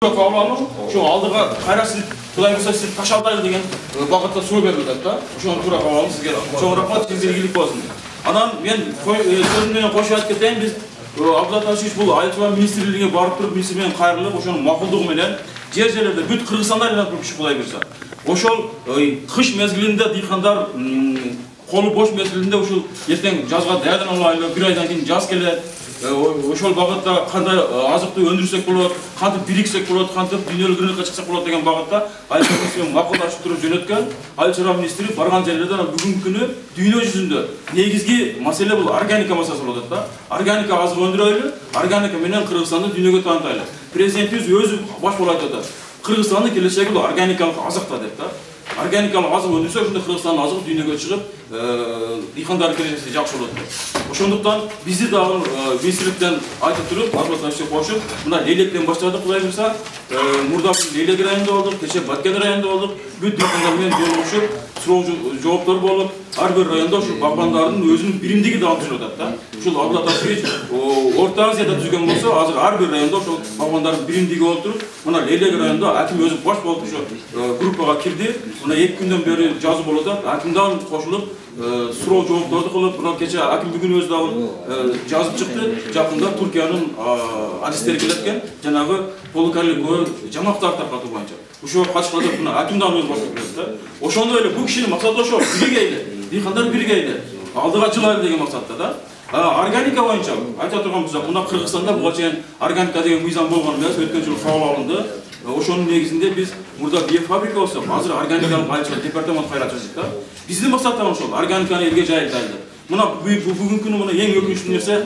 Kavramı şu aldığa karası kılayımsa siz taşaldaydı degen vakıtta su verildi da. Şu tura kavramı sizge. Şu rahmat sizge ilgilik olsun. Anam men sözümden koşup keteyim biz Abdullah Taşiç bu Aytman Ministrliğine barıp turup ministr менен кайрылып ошонун макулдугу менен жер жерлерде бүт Кыргызстанда айланып туруп иш кылай берсе. Ошол кыш мезгилинде дыйкандар колу бош мезгилинде ушул эртең жазга даярдан алайлы, бир айдан кийин жаз келет. Ошол багытта кандай азыкты өндүрсөк болот, кантип бириксек болот, кантип дүйнөлүк рынокко чыксак болот деген багытта Айылча менен макулдашып туруп жөнөткөн Айыл министри барган жерлерде бүгүнкү күнү дүйнө жүзүндө негизги маселе бул органика маселеси болуп атат да. Органика азык өндүрөлү, органика менен Кыргызстанды дүйнөгө таанытайлы. Президентибиз өзү баш болуп айтып атат. Кыргызстандын келечеги бул органикалык азыкта деп да. Органикалык азык өндүрсө ошондо Кыргызстандын азыгы дүйнөгө чыгып, дыйкандардын келечеги жакшы болот деп. Ошондуктан бизди дагы министрликтен айтып туруп, Абдулла кошуп, мына Лейлектен баштадык кылай берсе, мурда Лейлек районунда болдук, кече Баткен районунда болдук, бүт дыйкандар менен жолугушуп, суроо жооптор болуп, ар бир райондо ушу багбандардын өзүнүн биримдиги да антышып атат да. Ушул Абдулла Орто Азияда түзгөн болсо, азыр ар бир райондо ошол багбандардын биримдиги болуп туруп, мына Лейлек районунда аким өзү баш болуп ушу группага кирди. Мына 2 күндөн бери жазуу болуп атат. Акимдан кошулуп, суроо жоопторду кылып, мына кече аким бүгүн өзү дагы жазып чыкты. Жакында Туркиянын адистери келет экен, жанагы полукарликовый жамактар таркатуу боюнча. Ушуга катышканда мына акимдан өзү басып келет да. Ошондой эле бул кишинин максаты ошол, биригейли, дыйкандар биригейли, алдыга жылайлы деген максатта да. Органика боюнча айта турган болсок, мына Кыргызстанда буга чейин органика деген мыйзам болгон эмес, өткөн жылы кабыл алынды. Ошонун негизинде биз мурда биофабрика болсо, азыр органикалык айылчылык департамент кайрачыбыз да. Биздин максаттар ошол, органиканы элге жайылтайлы. Мына бүгүнкү күнү мына эң өкүнүчтүү нерсе,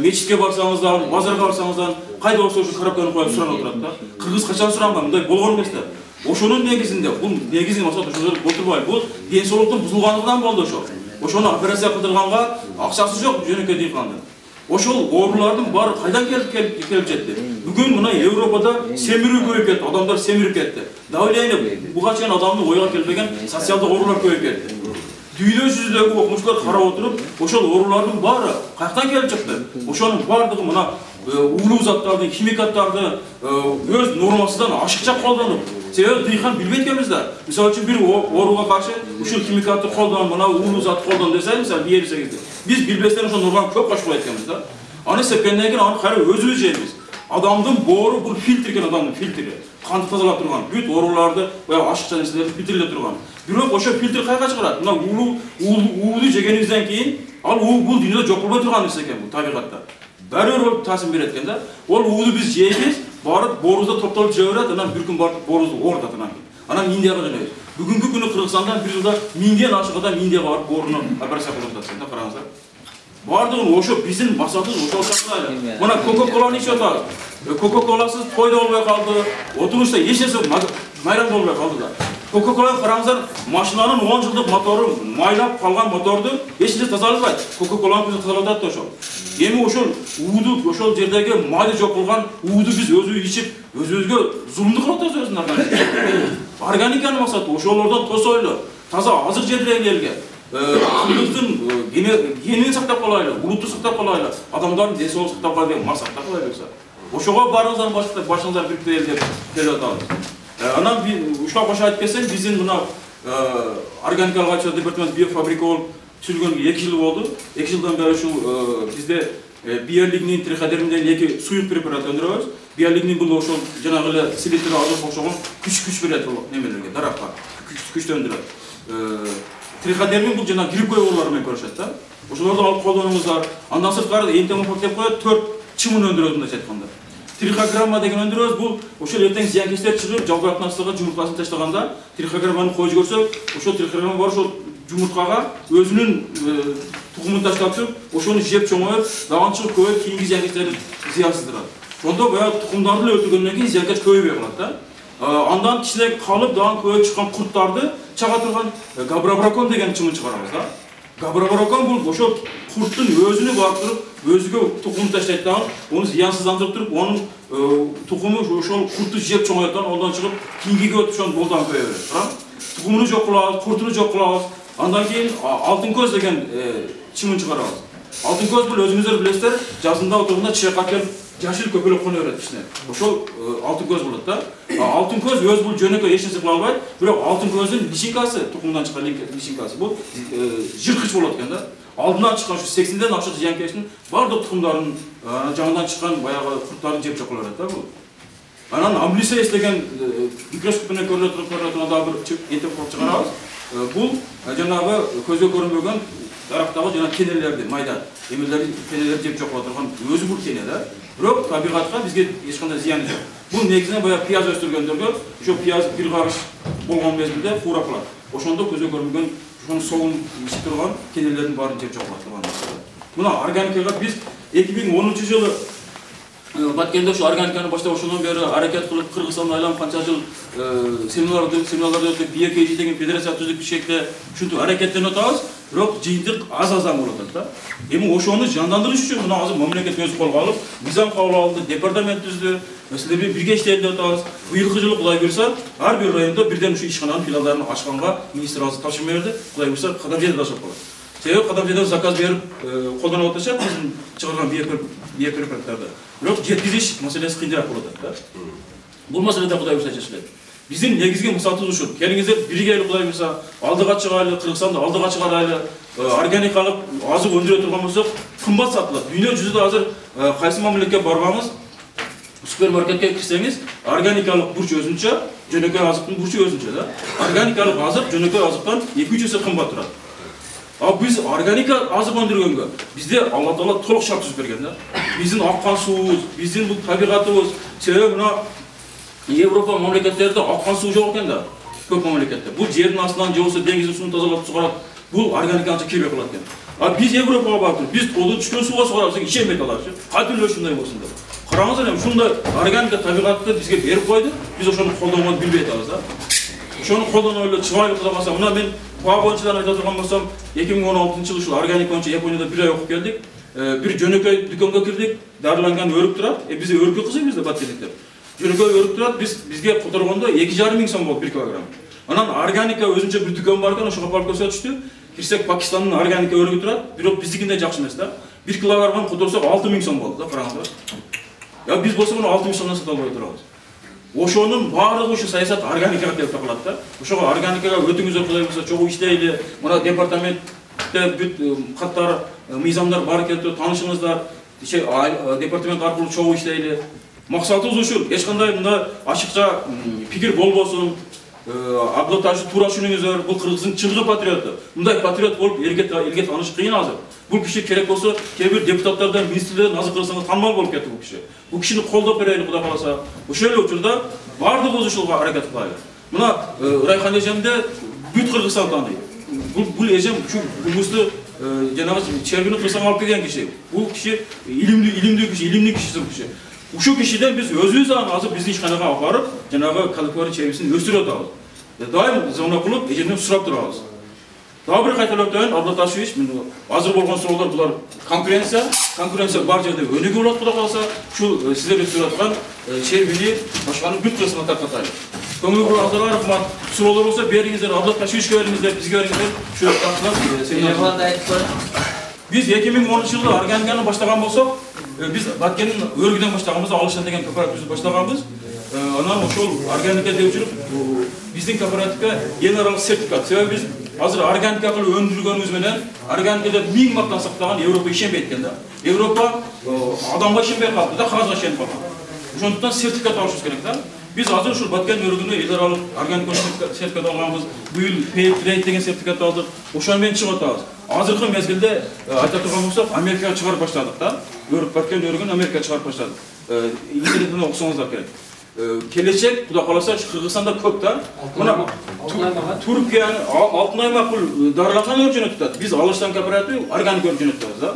мечитке барсаңыздар, базарга барсаңыздар, кайда болсо ошо коробканы коюп суранып турат да. Кыргыз качан суранган, мындай болгон эмес да. Ошонун негизинде, бул негизги максат ошол отурбай, бул ден соолуктун бузулгандыгынан болду ошо. Ошону операция кылдырганга акчасы жок жөнөкөй дыйкандын. Ошол оорулардын баары кайдан келип жетти? Бүгүн мына Европада семирүү көбөйүп кетти, адамдар семирип кетти. Давление буга чейин адамдын ойго келбеген социалдык оорулар көбөйүп кетти. Дүйнө жүзүндөгү окумуштуулар карап отуруп, ошол оорулардын баары каяктан келип чыкты? Ошонун баардыгы мына уулуу заттарды, химикаттарды өз нормасынан ашыкча колдонуп, себеби дыйкан билбейт экенбиз да. Мисалы үчүн бир ооруга каршы ушул химикатты колдон, мына уулуу зат колдон десе, мисалы берсеңиз, биз билбестен ошол норманы көп кошкула эткенбиз да. Аны сепкенден кийин аны кайра өзүбүз жейбиз. Адамдын боору бул фильтр экен, адамдын фильтри. Канды тазалап турган, бүт ооруларды, баягы ашыкча нерселерди фильтрлеп турган. Бирок ошо фильтр кайга чыгарат? Мына уулу жегенибизден кийин, ал уу бул дүйнөдө жок болбой турган нерсе экен бул табигатта. Баары бир таасир берет экен да. Ол уулу биз жейбиз, барып боорубузда топтолуп жей берет, анан бир күн барып боорубузду оорутат анан. Анан Индияга жөнөйбүз. Бүгүнкү күнү Кыргызстандан бир жылда 1000ден ашык адам Индияга барып бооруну операция кылып атат да, караңыздар. Бардыгын ошо биздин максатыбыз ошол чакырайлы. Мына Coca-Cola'ны ичип атабыз. Coca-Cola'сыз тойдо болбой калды, отурушта эч нерсе майрам болбой калды да. Coca-Cola'ны караңыздар, машинанын 10 жылдык мотору, майлап калган моторду эч нерсе тазалабайт. Coca-Cola'ны биз тазалап атат ошол. Эми ошол ууду, ошол жердеги майды жок кылган ууду биз өзүбүз ичип, өзүбүзгө зулумдук кылып атабыз өзүнүн органикасы. Органиканын максаты ошолордон тосойлу, таза азык жедирели элге. Кыргыздын генин сактап калайлы, улутту сактап калайлы, адамдардын ден соолугун сактап калайлы деген максатта кыла берсе. Ошого баарыңыздан башыңыздар бириктире деп келип атабыз. Анан ушуга кошо айтып кетсем, биздин мына органикалык айылчылык департамент биофабрика болуп түзүлгөнгө 2 жыл болду. 2 жылдан бери ушул бизде биолигнин триходермиден 2 суюк препарат өндүрөбүз. Биолигнин бул ошол жанагы эле селектор азык окшогон күч берет бул немелерге, даракка. Күчтү өндүрөт. Триходермин бул жана гриппой оорулар менен көрүшөт да. Ошолорду алып колдонуңуздар. Андан сырткары энтомофаг деп коет, 4 чымын өндүрөбүз мындайча айтканда. Трихограмма деген өндүрөбүз, бул ошол эртең зыянкечтер чыгып, жалбырактын астыга жумурткасын таштаганда, трихограмманы койуп көрсөк, ошол трихограмма бар ошол жумурткага өзүнүн тугумун таштап туруп, ошону жеп чоңоюп, даган чыгып көбөйүп, кийинки зыянкечтерди зыянсыздырат. Ошондо баягы тукумдарды өлтүргөндөн кийин зыянкеч көбөйбөй калат да. Андан кичине калып, даган көбөйүп чыккан курттарды чага турган габрабракон деген чымын чыгарабыз да. Габрабракон бул ошол курттун өзүнү барып туруп, өзүгө тукум таштайт да, ону зыянсыздандырып туруп, онун тукуму ошол куртту жеп чоңойт да, ондон чыгып кийинкиге өтүп ошону болдан көбөйө берет. Тукумуну жок кылабыз, куртуну жок кылабыз. Андан кийин алтын көз деген чымын чыгарабыз. Алтын көз бул өзүңүздөр билесиздер, жазында отурганда чайкап келип жашыл көпөлөк кона берет ичине. Ошол алтын көз болот да. Алтын көз өз бул жөнөкөй эч нерсе кыла албайт, бирок алтын көздүн личинкасы, тукумдан чыккан личинкасы бул жырткыч болот экен да. Алдынан чыккан ушу 80ден ашык зыянкечтин бардык тукумдарын жаңыдан чыккан баягы курттарын жеп жок кылып берет да бул. Анан амблисейс деген микроскоп менен көрүнө турган дагы бир энтек кылып чыгарабыз. Бул жанагы көзгө көрүнбөгөн дарактагы жана кенелерди, майда эмелерди, кенелерди жеп жок кыла турган өзү бул кене да. Бирок табигатка бизге эч кандай зыяны жок. Бул негизинен баягы пияз өстүргөндөргө ошо пияз бир карыш болгон мезгилде фура кылат. Ошондо көзгө көрүнбөгөн ошонун соогун ичип турган кенелердин баарын жеп жок кылат турган. Мына органикага биз 2010-жылы Баткенде ошо органиканы баштап ошондон бери аракет кылып Кыргызстанда айланып канча жыл семиналарды өтүп BKG деген федерация түзүп Бишкекте ушинтип аракеттенип атабыз, бирок жыйынтык аз-аздан болуп атат да. Эми ошону жандандырыш үчүн мына азыр мамлекет өзү колго алып, мыйзам кабыл алды, департамент түздү, силер менен бирге иштейли деп атабыз. Быйылкы жылы Кудай буйрса, ар бир райондо бирден ушу ишкананын филиалдарын ачканга министр азыр тапшырма берди. Кудай буйрса, кадам жерде ашып калат. Себеби кадам жерде заказ берип колдонуп атышат биздин чыгарган биопрепараттарды. Бирок жеткизиш маселеси кыйыныраак болуп атат да. Бул маселеде Кудай буйрса чечилет. Биздин негизги максатыбыз ушул. Келиңиздер бирге Кудай буйрса алдыга чыгайлы, Кыргызстанды алдыга чыгарайлы, органикалык азык өндүрө турган болсок, кымбат сатылат. Дүйнө жүзүндө азыр кайсы мамлекетке барбаңыз, супермаркетке кирсеңиз, органикалык бурч өзүнчө, жөнөкөй азыктын бурчу өзүнчө да. Органикалык азык жөнөкөй азыктан 2-3 эсе кымбат турат. Биз органика азык өндүргөнгө бизде Алла Таала толук шарт түзүп берген да. Биздин аккан суубуз, биздин бул табигатыбыз, себеби мына Европа мамлекеттерде аккан суу жок экен да. Көп мамлекетте. Бул жердин астынан же болбосо деңиздин суун тазалап чыгарат. Бул органиканы кирбей калат экен. Биз Европага барып, биз колдон түшкөн сууга чыгарабыз, ишенбей калабыз. Кантип ушундай болсун деп. Караңыздар, эми ушундай органика табигатты бизге берип койду. Биз ошону колдонууну билбей атабыз да. Ошону колдонуп эле чыгайлы кыла калса, мына мен Паа боюнча айта турган болсом, 2016-жылы ушул органика боюнча Японияда 1 ай окуп келдик. Бир жөнөкөй дүкөнгө кирдик, дарыланган өрүк турат. Биз өрүккө кызык бизде баткендиктер. Жөнөкөй өрүк турат, бизге которгондо 2,5 миң сом болду 1 килограмм. Анан органика өзүнчө бир дүкөн бар экен, ошого барып көрсөтүштү. Кирсек Пакистандын органика өрүгү турат, бирок биздикиндей жакшы эмес да. 1 килограмм которсок 6 миң сом болду да, караңыздар. Биз болсо муну 6 миң сомдон сата албай турабыз. Ошонун баардыгы ушу саясат органикага келип такалат да. Ошого органикага өтүңүздөр Кудай буйрса чогуу иштейли. Мына департаментте бүт каттар, мыйзамдар бар экен, таанышыңыздар. Департамент аркылуу чогуу иштейли. Максатыбыз ушул. Эч кандай мында ачыкча пикир болбосун. Аблаташы туура түшүнүңүздөр. Бул Кыргыздын чыныгы патриотту. Мындай патриот болуп элге тааныш кыйын азыр. Бул киши керек болсо, кээ бир депутаттардан, министрлерден азыр Кыргызстанда таанымал болуп кетти бул киши. Бул кишини колдоп берели Кудай кааласа. Ошол эле учурда бардыгыбыз ушулга аракет кылайлы. Мына Райхан эжемде бүт Кыргызстан тааныйт. Бул эжем ушу Гумузду жанагы чергини кырсаң алып келген киши. Бул киши илимдүү киши. Ушул кишиден биз өзүбүз азыр биздин ишканага алып барып, жанагы калифория чебисин өстүрүп атабыз. Дайым звонок кылып, эжемден сурап турабыз. Дагы бир кайталап өтөйүн, Абдулаташевич, азыр болгон суроолор булар конкуренция бар жерде өнүгүү болот Кудай кааласа, ушул сиздер өтүп аткан чербини башканын бүт кырсына таркатайлы. Көңүл бураңыздарга рахмат. Суроолор болсо бериңиздер, Абдулаташевичке бериңиздер, бизге бериңиздер. Ушул тартылат. Биз 2010-жылы органиканы баштаган болсок, биз Баткендин өргүдөн баштаганбыз, Алышан деген кооперативди баштаганбыз. Анан ошол органика деп жүрүп, биздин кооперативге эл аралык сертификат. Себеби биз азыр органика кылып өндүргөнүбүз менен органикада 1000 мактан сактаган Европа ишенбейт экен да. Европа адамга ишенбей калды да, кагазга ишенип калган. Ошондуктан сертификат алышыбыз керек да. Биз азыр ушул Баткен өргүнө эл аралык органика сертификат алганбыз. Быйыл Fairtrade деген сертификат алдык. Ошону менен чыгып атабыз. Азыркы мезгилде айта турган болсок, Америкага чыгарып баштадык да. Баткен өргүнө Америкага чыгарып баштадык. Интернеттен окусоңуздар керек. Келечек Кудай кааласа Кыргызстанда көп да. Мына Түркиянын алтын аймак бул дарыланган өрүк жөнөтүп. Биз Алыштан кооператив органик өрүк жөнөтөбүз да.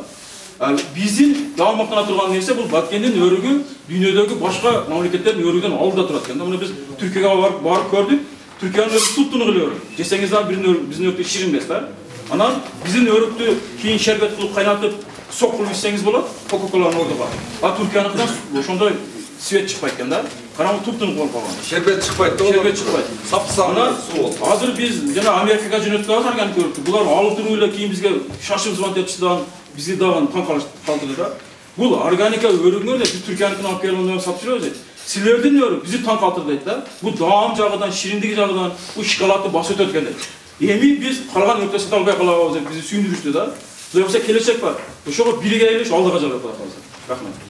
Биздин дааматтана турган нерсе бул Баткендин өрүгү дүйнөдөгү башка мамлекеттердин өрүгүнөн алдыда турат экен да. Муну биз Түркияга барып көрдүк. Түркиянын өрүгү туп-туну өрүк. Жесеңиз дагы биздин өрүк ширин эмес да. Анан биздин өрүктү кийин шербет кылып кайнатып, сок кылып ичсеңиз болот. Кока-коланын ордуга. Түркияныкынан ошондой свет чыкпайт экен да. Караңгы туп-туну болуп калган. Шербет чыкпайт да. Шербет чыкпайт. Сап-сары суу болот. Азыр биз жана Америкага жөнөтүп атабыз органик өрүктү. Булар алып туруп эле кийин бизге шашып звонок этишти да, бизди дагы таң калтырды да. Бул органика өрүңөр биз Түркияныкын алып келип сатып жүрөбүз. Силердин өрү бизди таң калтырды да. Бул даам жагынан, шириндиги жагынан, бул шоколадты басып өтөт экен. Эми биз калган өртө сата албай калабыз деп бизди сүйүндүрүштү да. Кудайга келечек бар. Ошого биригелиш алдыга жарат кылабыз. Рахмат.